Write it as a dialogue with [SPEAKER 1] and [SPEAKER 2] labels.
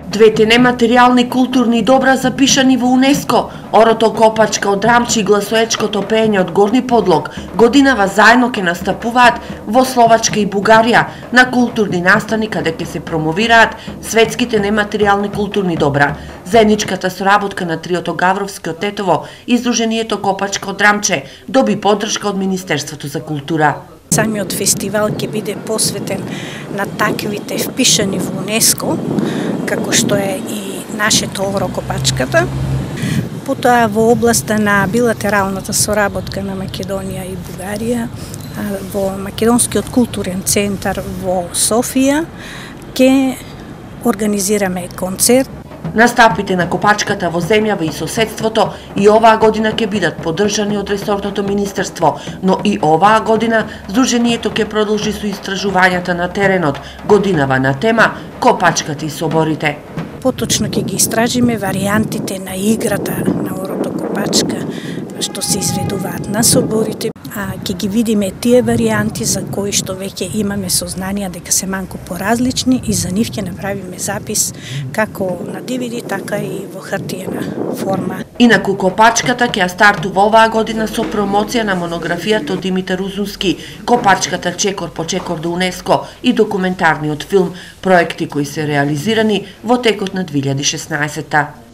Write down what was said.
[SPEAKER 1] Двете нематеријални културни добра запишани во УНЕСКО, орото Копачка од Драмче и гласоечкото пеење од Горни Подлог, годинава заедно ќе настапуваат во Словачка и Бугарија на културни настани каде ќе се промовираат светските нематеријални културни добра. Заедничката соработка на триото Гавровски од Тетово и Сдруженијето Копачка од Драмче доби поддршка од Министерството за култура.
[SPEAKER 2] Самиот фестивал ќе биде посветен на таквите впишани во УНЕСКО, како што е и нашето оро Копачката. Потоа во областа на билатералната соработка на Македонија и Бугарија, во Македонскиот културен центар во Софија ќе организираме концерт.
[SPEAKER 1] Настапите на Копачката во земјава и соседството и оваа година ќе бидат поддржани од ресорното министерство, но и оваа година Сдруженијето ќе продолжи со истражувањата на теренот, годинава на тема Копачката и соборите.
[SPEAKER 2] Поточно ќе ги истражиме варијантите на играта на орото Копачка, што се изведуваат на соборите, а ќе ги видиме тие варијанти за кои што веќе имаме сознание дека се малку поразлични и за нив ќе направиме запис како на DVD, така и во хартиена форма.
[SPEAKER 1] Инаку Копачката ќе стартува оваа година со промоција на монографијата од Димитар Узунски, Копачката чекор по чекор до УНЕСКО и документарниот филм, проекти кои се реализирани во текот на 2016-та.